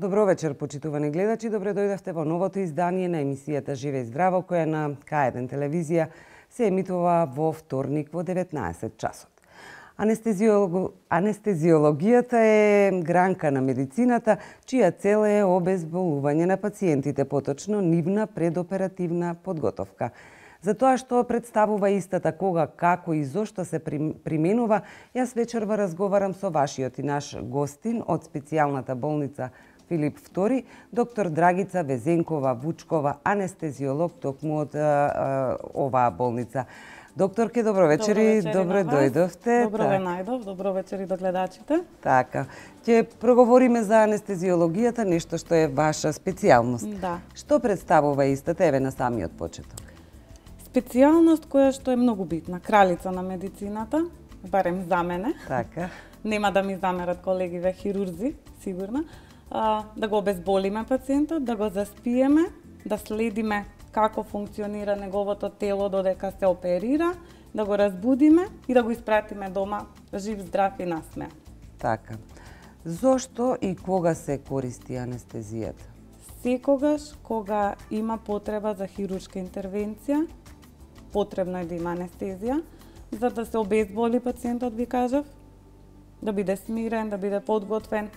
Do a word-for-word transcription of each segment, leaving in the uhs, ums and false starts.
Добро вечер, почитувани гледачи. Добре дојдовте во новото издание на емисијата Живе и здраво, која на К еден телевизија се емитува во вторник во деветнаесет часот. Анестезиолог... Анестезиологијата е гранка на медицината, чија цел е обезболување на пациентите, поточно нивна предоперативна подготовка. За тоа што представува истата, кога, како и зошто се применува, јас вечерва разговарам со вашиот и наш гостин од специјалната болница Филип втори, доктор Драгица Везенкова Вучкова, анестезиолог токму од а, оваа болница. Докторке, добро вечери, добро дојдовте. Добро ве најдов, добро вечери до гледачите. Така, ќе проговориме за анестезиологијата, нешто што е ваша специјалност. Да. Што представува истата, еве на самиот почеток? Специјалност која што е многу битна, кралица на медицината, барем за мене. Така. Нема да ми замерат колегиве хирурзи, сигурно. А, да го обезболиме пациентот, да го заспиеме, да следиме како функционира неговото тело додека се оперира, да го разбудиме и да го испратиме дома жив, здрав и насмеа. Така. Зошто и кога се користи анестезијата? Секогаш кога има потреба за хируршка интервенција, потребно е да има анестезија, за да се обезболи пациентот, ви кажав, да биде смирен, да биде подготвен.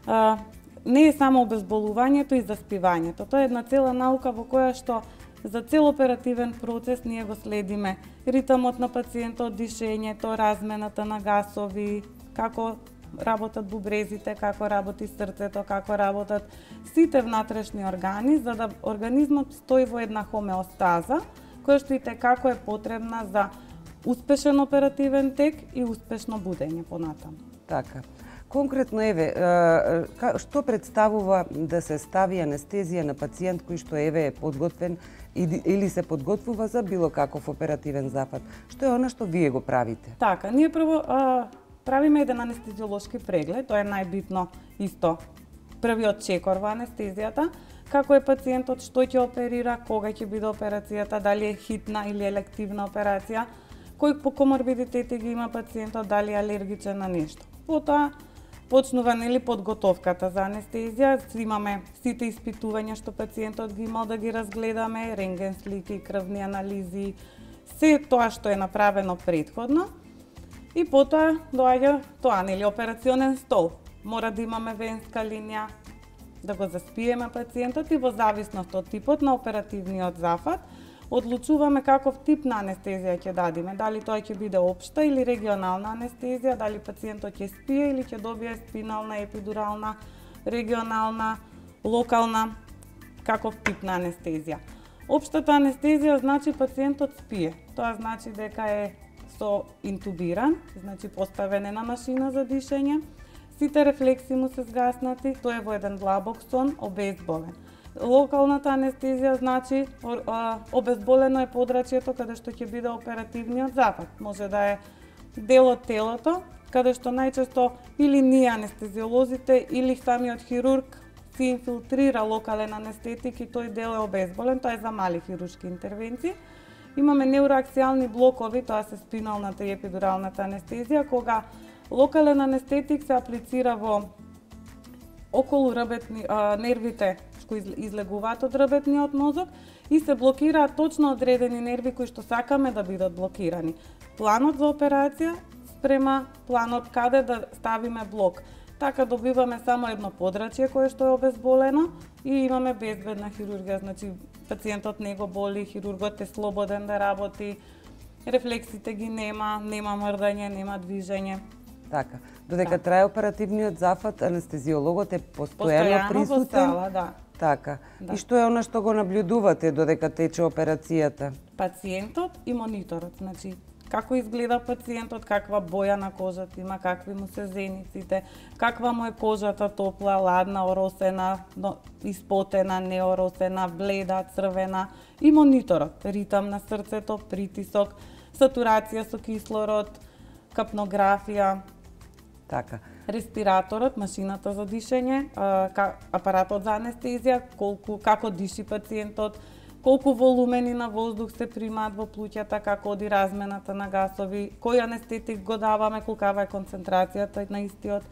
А, не е само обезболувањето и заспивањето. Тоа е една цела наука во која што за цел оперативен процес ние го следиме ритмот на пациентот, дишењето, размената на гасови, како работат бубрезите, како работи срцето, како работат сите внатрешни органи, за да организмот стои во една хомеостаза, која што и како е потребна за успешен оперативен тек и успешно будење понатаму. Така. Конкретно, еве, што представува да се стави анестезија на пациент кој што еве е подготвен или се подготвува за било каков оперативен зафат? Што е она што вие го правите? Така, ние прво а, правиме еден анестезиолошки преглед, тоа е најбитно исто. Првиот чекор во анестезијата, како е пациентот, што ќе оперира, кога ќе биде операцијата, дали е хитна или елективна операција, кои коморбидитети ги има пациентот, дали е алергичен на нешто. Потоа почнува нели подготовката за анестезија, имаме сите испитувања што пациентот ги имал да ги разгледаме, рентген слики, крвни анализи, се тоа што е направено претходно. И потоа доаѓа тоа, нели, операционен стол. Мора да имаме венска линија, да го заспиеме пациентот и во зависност од типот на оперативниот зафат, одлучуваме каков тип на анестезија ќе дадиме, дали тоа ќе биде општа или регионална анестезија, дали пациентот ќе спие или ќе добие спинална, епидурална, регионална, локална, каков тип на анестезија. Општата анестезија значи пациентот спие. Тоа значи дека е со интубиран, значи поставен е на машина за дишење, сите рефлекси му се згаснати, тој е во еден длабок сон, обезболен. Локалната анестезија значи обезболено е подрачјето каде што ќе биде оперативниот зафат. Може да е дел од телото, каде што најчесто или ние анестезиолозите или самиот хирург се инфилтрира локален анестетик и тој дел е обезболен, тоа е за мали хируршки интервенции. Имаме неуроаксијални блокови, тоа се спиналната и епидуралната анестезија, кога локален анестетик се аплицира во околу ребетни, а, нервите кои излегуваат од ребетниот мозок и се блокираат точно одредени нерви кои што сакаме да бидат блокирани. Планот за операција спрема планот каде да ставиме блок. Така добиваме само едно подрачје кое што е обезболено и имаме безбедна хирургија, значи пациентот не го боли, хирургот е слободен да работи, рефлексите ги нема, нема мрдање, нема движење. Така, додека да. Трае оперативниот зафат, анестезиологот е постојано присутен. Постојано во сала, да. Така. Да. И што е она што го наблюдувате додека тече операцијата? Пациентот и мониторот, значи како изгледа пациентот, каква боја на кожата има, какви му се зениците, каква му е кожата, топла, ладна, оросена, испотена, неоросена, бледа, црвена, и мониторот, ритам на срцето, притисок, сатурација со кислород, капнографија, Така. респираторот, машината за дишење, апаратот за анестезија, колку како диши пациентот, колку волумени на воздух се примаат во плуќата, како оди размената на гасови, кој анестетик го даваме, колкава е концентрацијата на истиот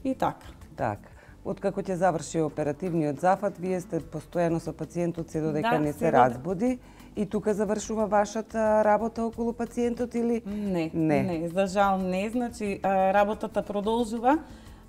и така. Така. Откако ќе заврши оперативниот зафат, вие сте постојано со пациентот се додека Да, не се се доде- разбуди и тука завршува вашата работа околу пациентот или Не, Не. не, за жал не, значи а, работата продолжува.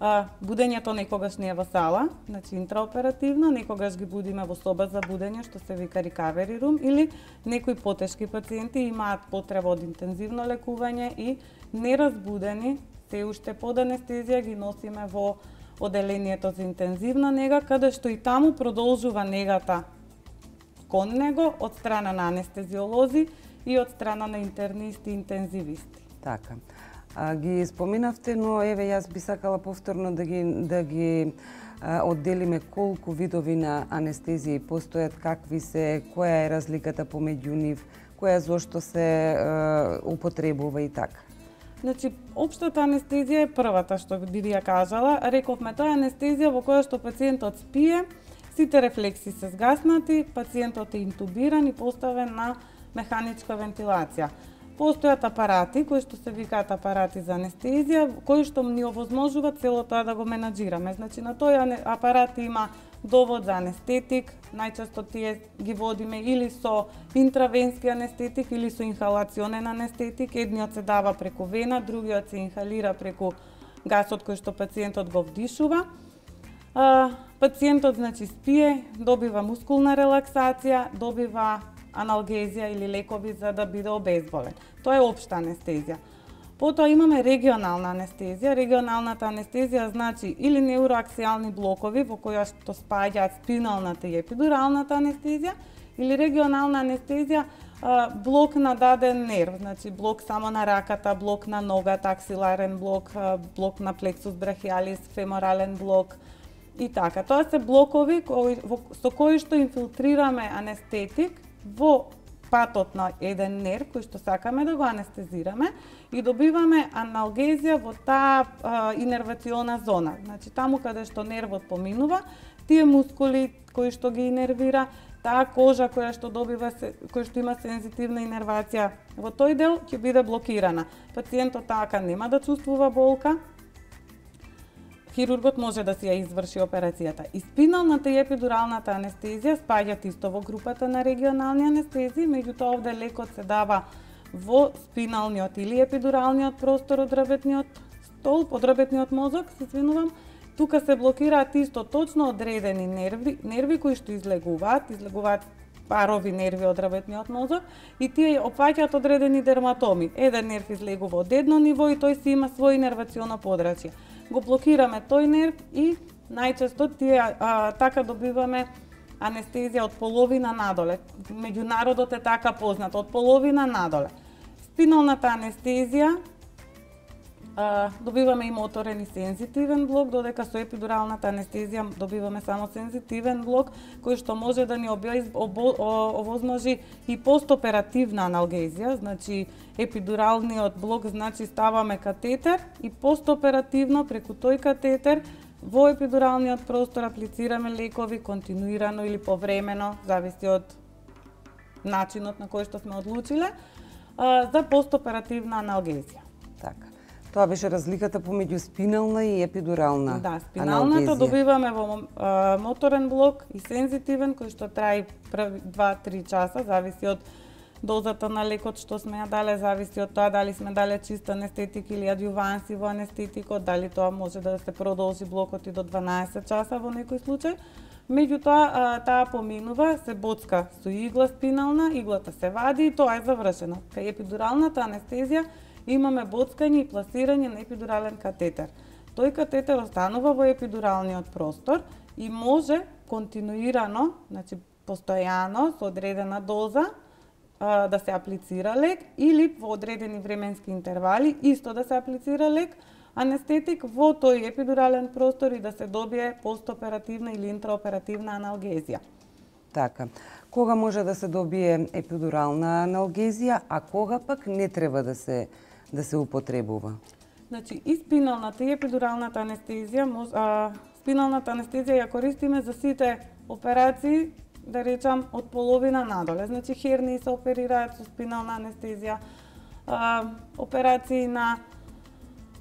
А, будењето некогаш не е во сала, значи интраоперативно, некогаш ги будиме во соба за будење, што се вика recovery room, или некои потешки пациенти имаат потреба од интензивно лекување и неразбудени, се уште под анестезија ги носиме во оделението за интензивна нега, каде што и таму продолжува негата кон него од страна на анестезиолози и од страна на интернисти и интензивисти. така. А, ги споминавте, но еве јас би сакала повторно да ги да ги а, одделиме колку видови на анестезии постојат, какви се, која е разликата помеѓу нив, која зошто се а, употребува и така. Значи, општата анестезија е првата што би ја кажала. Рековме, тоа е анестезија во која што пациентот спие, сите рефлекси се згаснати, пациентот е интубиран и поставен на механичка вентилација. Постојат апарати кои што се викаат апарати за анестезија, кои што ни овозможуваат цело тоа да го менаџираме. Значи, на тој апарат има довод за анестетик, најчесто тие ги водиме или со интравенски анестетик или со инхалационен анестетик. Едниот се дава преку вена, другиот се инхалира преку гасот кој што пациентот го вдишува. А, пациентот, значи, спие, добива мускулна релаксација, добива аналгезија или лекови за да биде обезболен. Тоа е општа анестезија. Потоа имаме регионална анестезија. Регионалната анестезија значи или неуроаксијални блокови во која што спаѓаат спиналната и епидуралната анестезија, или регионална анестезија блок на даден нерв, значи блок само на раката, блок на ногата, аксиларен блок, блок на плексус брахиалис, феморален блок и така. Тоа се блокови кои, со кои што инфилтрираме анестетик во патот на еден нерв кој што сакаме да го анестезираме и добиваме аналгезија во таа а, инервациона зона. Значи таму каде што нервот поминува, тие мускули кои што ги инервира, таа кожа која што добива која што има сензитивна инервација, во тој дел ќе биде блокирана. Пациентот така нема да чувствува болка. Хирургот може да си ја изврши операцијата. И спиналната и епидуралната анестезија спаѓаат исто во групата на регионални анестезии, меѓутоа овде лекот се дава во спиналниот или епидуралниот простор од дрветниот столб, од дрветниот мозок, се извинувам. Тука се блокираат исто точно одредени нерви, нерви кои што излегуваат, излегуваат парови нерви од дрветниот мозок и тие опфаќаат одредени дерматоми. Еден нерв излегува од едно ниво и тој си има свој инервационо подрачје. Го блокираме тој нерв и најчесто тие а, така добиваме анестезија од половина надоле. Меѓународот е така познат, од половина надоле. Спиналната анестезија а, добиваме и моторен и сензитивен блок, додека со епидуралната анестезија добиваме само сензитивен блок, кој што може да ни овозможи и постоперативна аналгезија, значи епидуралниот блок значи ставаме катетер и постоперативно преку тој катетер во епидуралниот простор аплицираме лекови континуирано или повремено, зависи од начинот на кој што сме одлучиле, за постоперативна аналгезија. Така. Тоа беше разликата помеѓу спинална и епидурална аналгезија. Да, спиналната добиваме во а, моторен блок и сензитивен кој што трае први два-три часа, зависи од дозата на лекот што сме ја дале, зависи од тоа дали сме дале чист анестетик или адјуванси во анестетикот, дали тоа може да се продолжи блокот и до дванаесет часа во некој случај. Меѓутоа, таа поминува, се боцка со игла спинална, иглата се вади и тоа е завршено. Кај епидуралната анестезија имаме боцкање и пласирање на епидурален катетер. Тој катетер останува во епидуралниот простор и може континуирано, значи постојано, со одредена доза, а, да се аплицира лек или во одредени временски интервали исто да се аплицира лек анестетик во тој епидурален простор и да се добие постоперативна или интраоперативна аналгезија. Така. Кога може да се добие епидурална аналгезија, а кога пак не треба да се да се употребува? Значи, и спиналната и епидуралната анестезија, а, спиналната анестезија ја користиме за сите операции, да речам, од половина надоле. Значи, хернии се оперираат со спинална анестезија, а, операции на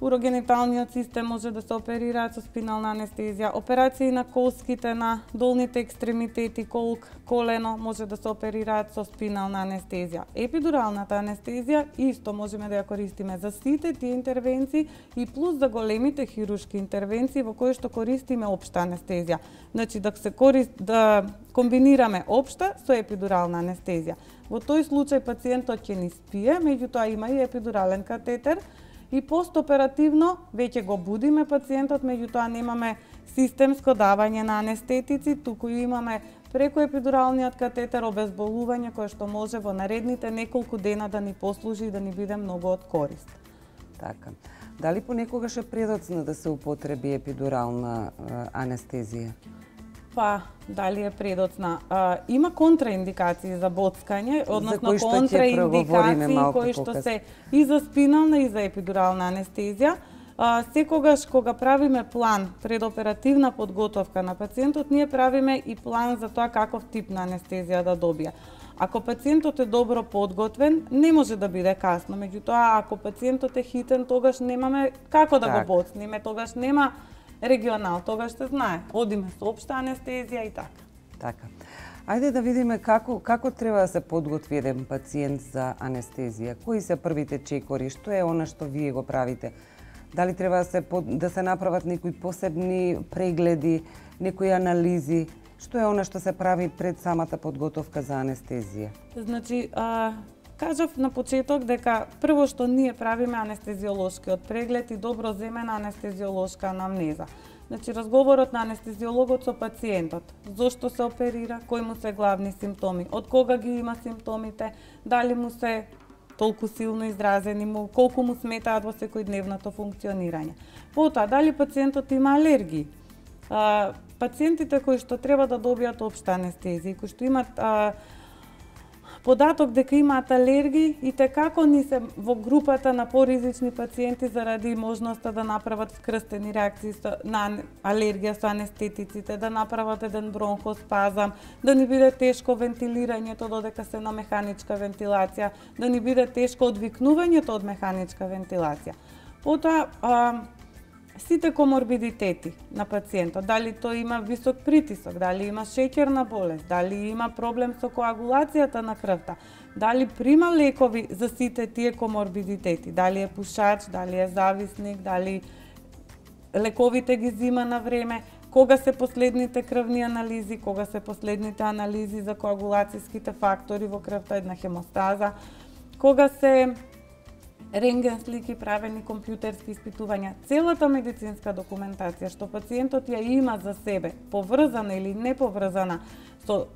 урогениталниот систем може да се оперираат со спинална анестезија, операции на колските, на долните екстремитети, колк, колено може да се оперираат со спинална анестезија. Епидуралната анестезија исто можеме да ја користиме за сите тие интервенции и плюс за големите хируршки интервенции во кои што користиме општа анестезија. Значи да се корист да комбинираме општа со епидурална анестезија. Во тој случај пациентот ќе ни спие, меѓутоа има и епидурален катетер, и постоперативно веќе го будиме пациентот, меѓутоа немаме системско давање на анестетици, туку имаме преку епидуралниот катетер обезболување кое што може во наредните неколку дена да ни послужи и да ни биде многу од корист. Така. Дали понекогаш е предоцна да се употреби епидурална анестезија? Па, дали е предоцна? А, има контраиндикации за боцкање, односно контраиндикации кои што се и за спинална и за епидурална анестезија. А, секогаш кога правиме план предоперативна подготовка на пациентот, ние правиме и план за тоа каков тип на анестезија да добие. Ако пациентот е добро подготвен, не може да биде касно. Меѓутоа, ако пациентот е хитен, тогаш немаме како да так. го боцниме, тогаш нема регионал, тогаш се знае. Одиме со општа анестезија и така. Така. Ајде да видиме како како треба да се подготви еден пациент за анестезија. Кои се првите чекори? Што е она што вие го правите? Дали треба да се да се направат некои посебни прегледи, некои анализи? Што е она што се прави пред самата подготовка за анестезија? Значи, а, кажав на почеток дека прво што ние правиме анестезиолошкиот преглед и добро земена анестезиолошка анамнеза. Значи, разговорот на анестезиологот со пациентот, зошто се оперира, кои му се главни симптоми, од кога ги има симптомите, дали му се толку силно изразени, му, колку му сметаат во секојдневното функционирање. Потоа, дали пациентот има алергии. А, пациентите кои што треба да добијат општа анестезија, кои што имат а, податок дека имаат алергии и те како ни се во групата на поризични пациенти заради можноста да направат вкрстени реакции на алергија со анестетиците, да направат еден бронхоспазам, да ни биде тешко вентилирањето додека се на механичка вентилација, да ни биде тешко одвикнувањето од механичка вентилација. Потоа, а, сите коморбидитети на пациентот, дали тој има висок притисок, дали има шеќерна болест, дали има проблем со коагулацијата на крвта, дали прима лекови за сите тие коморбидитети, дали е пушач, дали е зависник, дали лековите ги зима на време, кога се последните крвни анализи, кога се последните анализи за коагулацијските фактори во крвта, една хемостаза, кога се рентген слики, правени компјутерски испитувања, целата медицинска документација што пациентот ја има за себе, поврзана или не поврзана со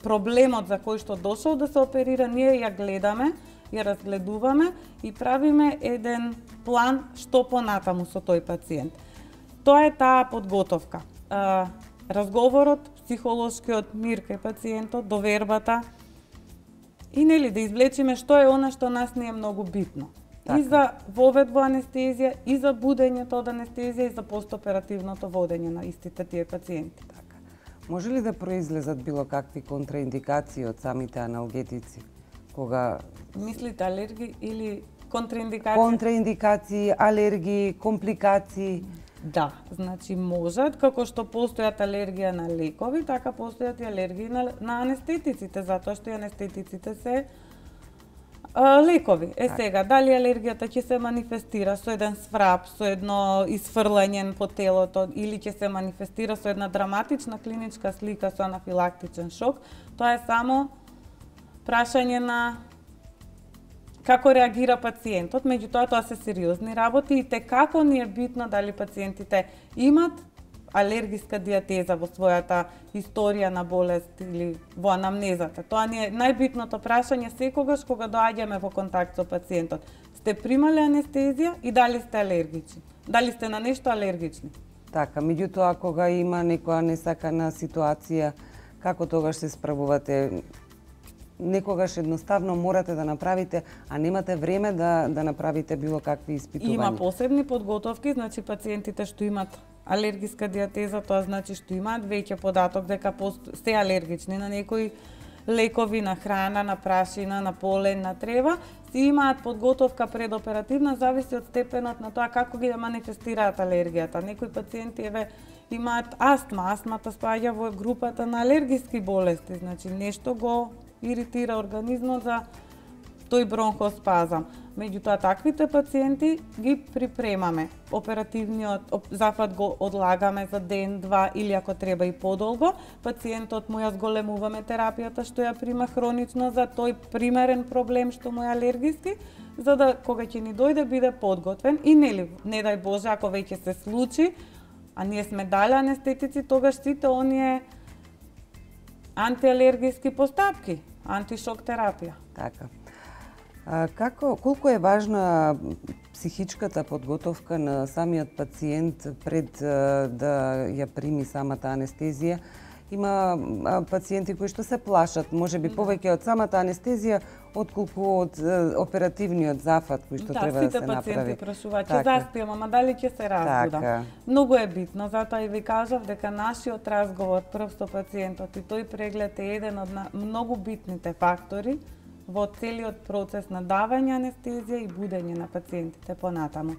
проблемот за кој што дошол да се оперира, ние ја гледаме, ја разгледуваме и правиме еден план што понатаму со тој пациент. Тоа е таа подготовка. Разговорот, психолошкиот мир кај пациентот, довербата, и нели да извлечиме што е она што нас не е многу битно. Така. И за вовед во анестезија, и за будењето од анестезија, и за постоперативното водење на истите тие пациенти. Така. Може ли да произлезат било какви контраиндикации од самите аналгетици? Кога мислите алергии или контраиндикации? Контраиндикации, алергии, компликации. Да, значи можат, како што постојат алергија на лекови, така постојат и алергии на, на анестетиците, затоа што и анестетиците се а, лекови. Е сега, дали алергијата ќе се манифестира со еден сврап, со едно изфрлање по телото, или ќе се манифестира со една драматична клиничка слика со анафилактичен шок, тоа е само прашање на како реагира пациентот, меѓутоа тоа се сериозни работи и те како ни е битно дали пациентите имат алергиска диатеза во својата историја на болест или во анамнезата. Тоа ни е најбитното прашање секогаш кога доаѓаме во контакт со пациентот. Сте примале анестезија и дали сте алергични? Дали сте на нешто алергични? Така, меѓутоа кога има некоја несакана ситуација, како тогаш се справувате? Некогаш едноставно морате да направите, а немате време да да направите било какви испитувања. Има посебни подготовки, значи пациентите што имат алергиска диатеза, тоа значи што имаат веќе податок дека се алергични на некои лекови, на храна, на прашина, на полен, на трева, си имаат подготовка предоперативна, зависи од степенот на тоа како ги манифестираат алергијата. Некои пациенти еве имаат астма, астмата спаѓа во групата на алергиски болести, значи нешто го иритира организмот за тој бронхоспазам. Меѓутоа, таквите пациенти ги припремаме. Оперативниот зафат го одлагаме за ден, два или ако треба и подолго. Пациентот му ја зголемуваме терапијата што ја прима хронично за тој примерен проблем што му е алергиски, за да кога ќе ни дојде биде подготвен и нели, не дај Боже, ако веќе се случи, а ние сме дали анестетици, тогаш сите оние антиалергиски постапки, антишок терапија. Така. А, како, колку е важна психичката подготовка на самиот пациент пред а, да ја прими самата анестезија? Има а, пациенти кои што се плашат, можеби повеќе од самата анестезија, отколку од а, оперативниот зафат кој што да, треба да се направи. Да, сите пациенти прашуваат, ќе така. заспиам, ама дали ќе се разбудам? Така. Многу е битно, затоа и ви кажав дека нашиот разговор прв со пациентот и тој преглед е еден од многу битните фактори во целиот процес на давање анестезија и будење на пациентите понатаму.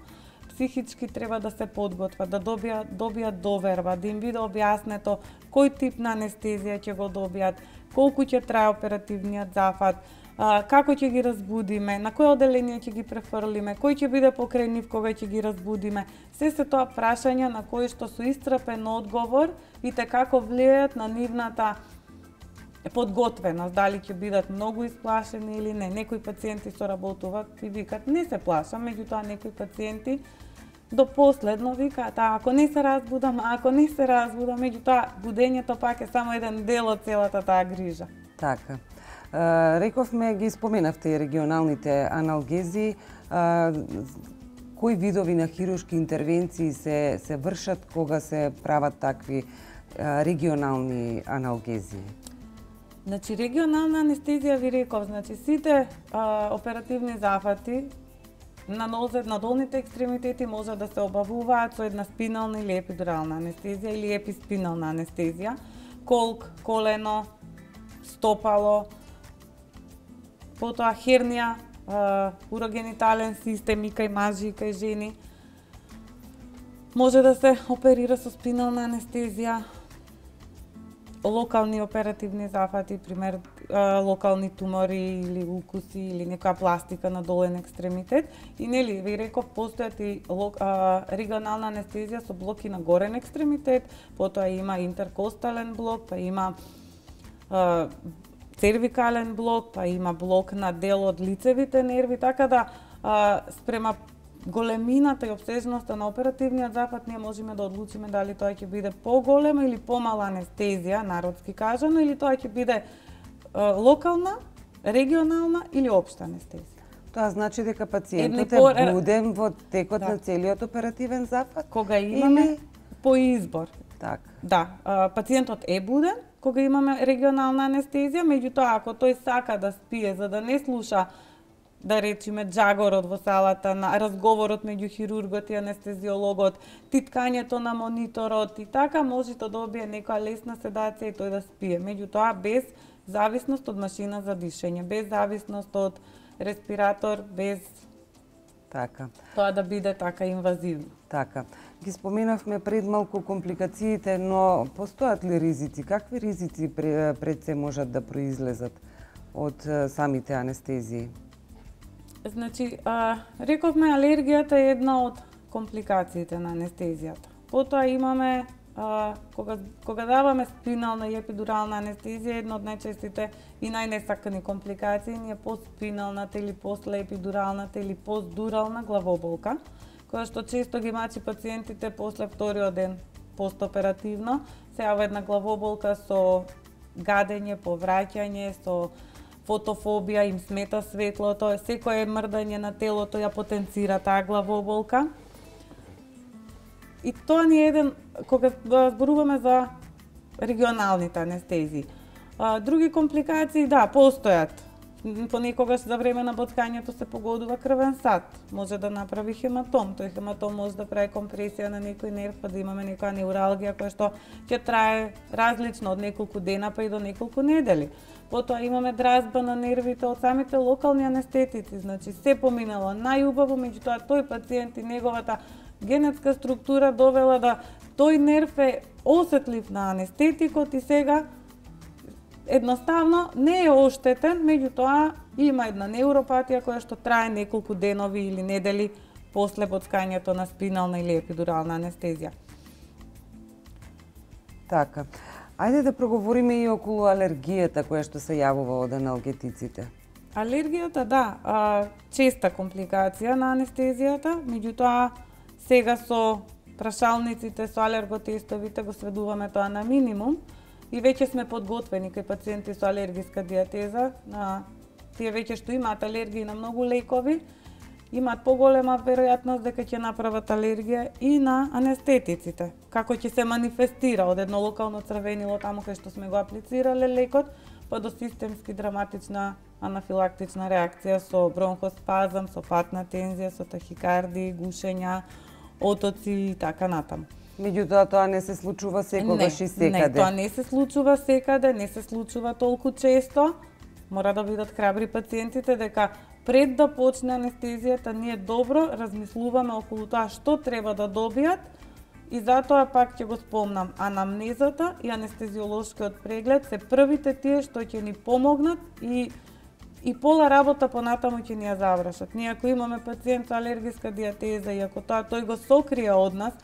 Психички треба да се подготват, да добијат, добијат доверба, да им биде објаснето кој тип на анестезија ќе го добијат, колку ќе трае оперативниот зафат, а, како ќе ги разбудиме, на кој оделение ќе ги префрлиме, кој ќе биде покрај нив кога ќе ги разбудиме. Се се тоа прашања на кои што со исцрпен одговор и те како влијаат на нивната подготвеност, дали ќе бидат многу исплашени или не. Некои пациенти соработуваат и викат не се плашам, меѓутоа некои пациенти до последно викаат, а ако не се разбудам, а ако не се разбудам, меѓутоа будењето пак е само еден дел од целата таа грижа. Така. А, рековме, ги споменавте и регионалните аналгези. А, кои видови на хируршки интервенции се се вршат кога се прават такви а, регионални аналгези? Значи, регионална анестезија ви реков, значи сите а, оперативни зафати на нозет, на долните екстремитети може да се обавуваат со една спинална или епидурална анестезија или еписпинална анестезија, колк, колено, стопало, потоа хернија, а, урогенитален систем и кај мажи и кај жени. Може да се оперира со спинална анестезија, локални оперативни зафати, пример локални тумори или укуси или некоја пластика на долен екстремитет. И нели ви реков постојат и регионална анестезија со блоки на горен екстремитет, потоа има интеркостален блок, па има а, цервикален блок, па има блок на дел од лицевите нерви, така да а, спрема големината и обсежноста на оперативниот зафат ние можеме да одлучиме дали тоа ќе биде поголема или помала анестезија, народски кажано, или тоа ќе биде е, локална, регионална или општа анестезија. Тоа значи дека пациентот по... е буден во текот да. на целиот оперативен зафат? Кога имаме или... по избор. Така. Да, пациентот е буден кога имаме регионална анестезија, меѓутоа ако тој сака да спие за да не слуша да речеме джагорот во салата, на разговорот меѓу хирургот и анестезиологот, титкањето на мониторот и така може да добие некоја лесна седација и тој да спие. Меѓутоа без зависност од машина за дишење, без зависност од респиратор, без така. Тоа да биде така инвазивно. Така. Ги споменавме пред малку компликациите, но постојат ли ризици? Какви ризици пред се можат да произлезат од самите анестезии? Значи, а, рековме алергијата е една од компликациите на анестезијата. Потоа имаме, а, кога, кога даваме спинална и епидурална анестезија, една од најчестите и најнесакани компликации ни е постспиналната или послеепидуралната или постдурална главоболка, која што често ги мачи пациентите после вториот ден постоперативно се јавува една главоболка со гадење, повраќање, со фотофобија, им смета светлото, секое мрдање на телото ја потенцира таа главоболка. И тоа ни е еден, кога зборуваме за регионалните анестезии. Други компликации, да, постојат. Понекогаш за време на боцкањето се погодува крвен сад. Може да направи хематом. Тој хематом може да прави компресија на некој нерв, па да имаме некоја неуралгија која што ќе трае различно од неколку дена па и до неколку недели. Потоа имаме дразба на нервите од самите локални анестетици, значи се поминало најубаво, меѓутоа тој пациент и неговата генетска структура довела да тој нерв е осетлив на анестетикот и сега едноставно не е оштетен, меѓутоа има една неуропатија која што трае неколку денови или недели после боцкањето на спинална или епидурална анестезија. Така. Ајде да проговориме и околу алергијата која што се јавува од аналгетиците. Алергијата, да, а, честа компликација на анестезијата, меѓутоа сега со прашалниците, со алерготестовите го сведуваме тоа на минимум и веќе сме подготвени кај пациенти со алергиска диатеза. На тие веќе што имаат алергии на многу лекови, имаат поголема веројатност дека ќе направат алергија и на анестетиците. Како ќе се манифестира од едно локално црвенило таму кај што сме го аплицирале лекот, па до системски драматична анафилактична реакција со бронхоспазам, со патна тензија, со тахикардии, гушења, отоци и така натаму. Меѓутоа тоа не се случува секогаш и секаде. Не, тоа не се случува секаде, не се случува толку често. Мора да бидат храбри пациентите дека пред да почне анестезијата ние добро размислуваме околу тоа што треба да добијат и затоа пак ќе го спомнам, анамнезата и анестезиолошкиот преглед се првите тие што ќе ни помогнат и и пола работа понатаму ќе ни ја завршат. Ние ако имаме пациент со алергиска диатеза и ако тоа тој го сокрие од нас,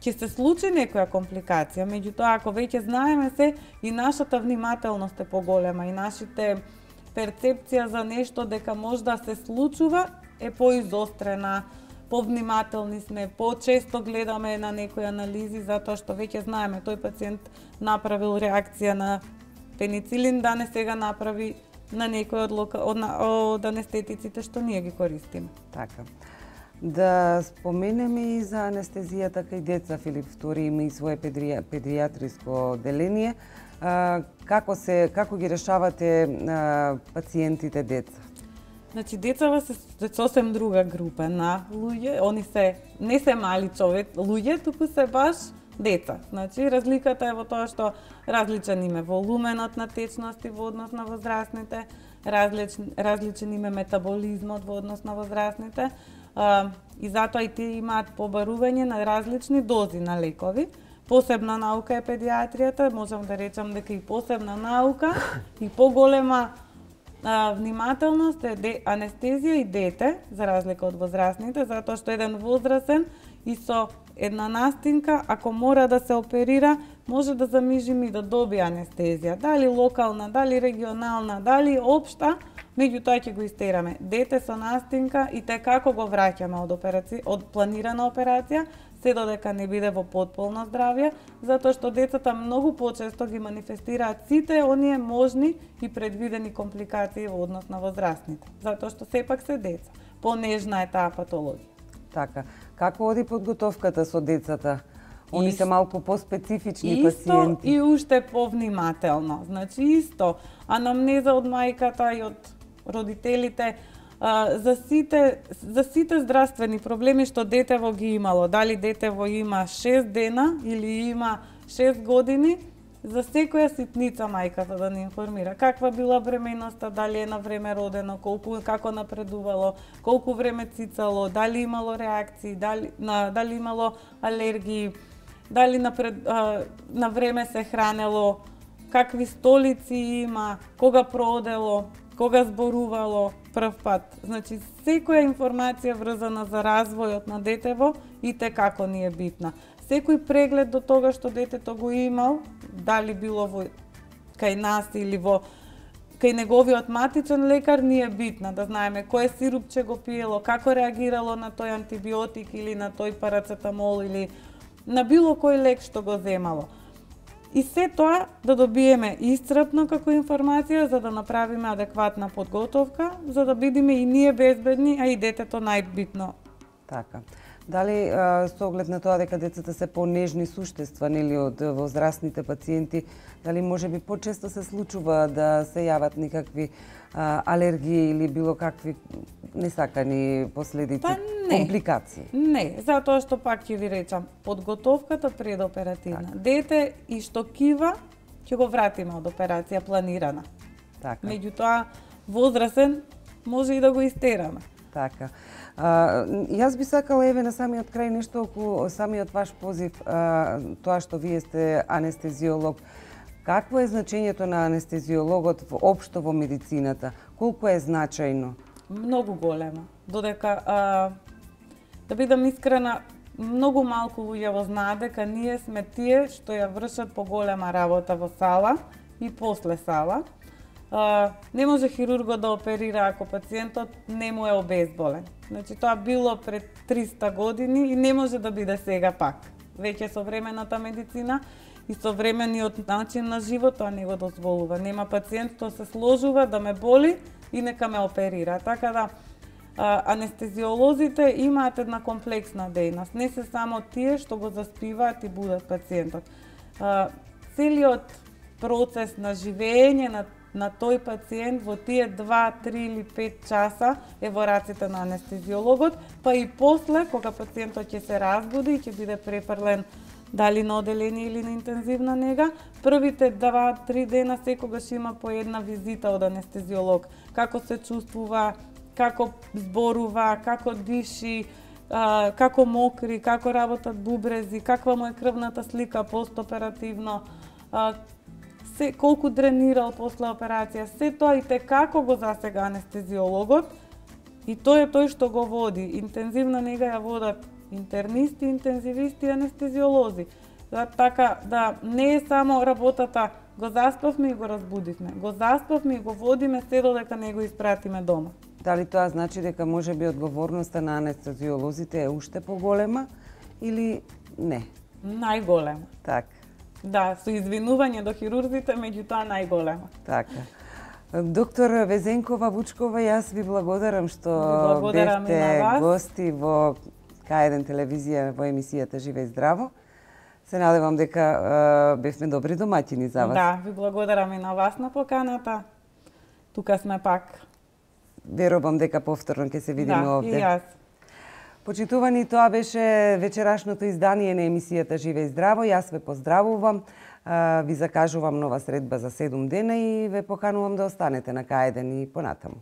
ќе се случи некоја компликација, меѓутоа ако веќе знаеме се и нашата внимателност е поголема и нашите перцепција за нешто дека може да се случува е поизострена, повнимателни сме, почесто гледаме на некои анализи затоа што веќе знаеме тој пациент направил реакција на пеницилин, да не сега направи на некој од, лока, од, од анестетиците што ние ги користиме. Така. Да споменеме и за анестезијата кај деца. Филип Втори има и свое педри... педијатриско одделение. А, како се како ги решавате а, пациентите деца? Значи децава се сосем друга група на луѓе, они се не се мали човек, луѓе, туку се баш деца. Значи разликата е во тоа што различен им е волуменот на течности во однос на возрастните, различен различен им е метаболизмот во однос на возрастните. Uh, и затоа и тие имаат побарување на различни дози на лекови. Посебна наука е педијатријата, можам да речам дека и посебна наука и поголема uh, внимателност е де, анестезија и дете, за разлика од возрастните, затоа што еден возрастен и со една настинка, ако мора да се оперира, може да замижим и да добие анестезија. Дали локална, дали регионална, дали општа, меѓутоа ќе го истераме. Дете со настинка и те како го враќаме од операција, од планирана операција, се додека не биде во потполно здравје, затоа што децата многу почесто ги манифестираат сите оние можни и предвидени компликации во однос на возрастните, затоа што сепак се деца. Понежна е таа патологија. Така. Како оди подготовката со децата? Они Исто, се малку поспецифични исто пациенти. И уште повнимателно. Значи исто, анамнеза од мајката и од родителите а, за сите за сите здравствени проблеми што детево ги имало, дали детево има шест дена или има шест години, за секоја ситница мајката да не информира каква била бременоста, дали е на време родено, колку како напредувало, колку време цицало, дали имало реакции, дали на дали имало алергии, дали напред, а, на време се хранело, какви столици има, кога продело, кога зборувало прв пат. Значи, секоја информација врзана за развојот на детево и те како ни е битна. Секој преглед до тога што детето го имал, дали било во кај нас или во кај неговиот матичен лекар, ни е битна да знаеме кој сирупче го пиело, како реагирало на тој антибиотик или на тој парацетамол или на било кој лек што го земало. И се тоа да добиеме исцрпно како информација за да направиме адекватна подготовка, за да бидеме и ние безбедни, а и детето најбитно. Така. Дали а, со оглед на тоа дека децата се понежни суштества нели од возрастните пациенти, дали можеби почесто се случува да се јават никакви а, алергии или било какви несакани последици, Па не. компликации? Не, затоа што пак ќе ви речам, подготовката предоперативна. Така. Дете и што кива, ќе го вратиме од операција планирана. Така. Меѓутоа, возрасен може и да го истераме. Така. А, јас би сакала еве на самиот крај нешто околу самиот ваш позив, а, тоа што вие сте анестезиолог. Какво е значењето на анестезиологот општо во медицината? Колку е значајно? Многу голема. Додека, а, да бидам искрена, многу малку луѓе го знаат дека ние сме тие што ја вршат поголема работа во сала и после сала. Uh, не може хирургот да оперира ако пациентот не му е обезболен. Значи тоа било пред триста години и не може да биде сега пак. Веќе современата медицина и современиот начин на живот тоа не го дозволува. Нема пациент што се сложува да ме боли и нека ме оперира. Така да uh, анестезиолозите имаат една комплексна дејност. Не се само тие што го заспиваат и будат пациентот. Uh, целиот процес на живење на на тој пациент во тие два, три или пет часа е во раците на анестезиологот, па и после, кога пациентот ќе се разбуди и ќе биде префрлен дали на оделение или на интензивна нега, првите два, три дена секогаш има по една визита од анестезиолог. Како се чувствува, како зборува, како диши, како мокри, како работат бубрези, каква му е крвната слика постоперативно, се колку дренирал после операција, се тоа и те како го засега анестезиологот и тој е тој што го води. Интензивна нега ја водат интернисти, интензивисти и анестезиолози. Да, така да не е само работата го заспавме и го разбудивме. Го заспавме и го водиме се додека не го испратиме дома. Дали тоа значи дека можеби одговорноста на анестезиолозите е уште поголема или не? Најголема. Така. Да, со извинување до хирурзите, меѓутоа најголема. Така. Доктор Везенкова Вучкова, јас ви благодарам што ви благодарам бевте гости во К еден телевизија во емисијата Живе и здраво. Се надевам дека uh, бевме добри домаќини за вас. Да, ви благодарам и на вас на поканата. Тука сме пак. Верувам дека повторно ќе се видиме да, овде. Да, и јас. Почитувани, тоа беше вечерашното издание на емисијата Живе и здраво. Јас ве поздравувам, ви закажувам нова средба за седум дена и ве поканувам да останете на К еден и понатаму.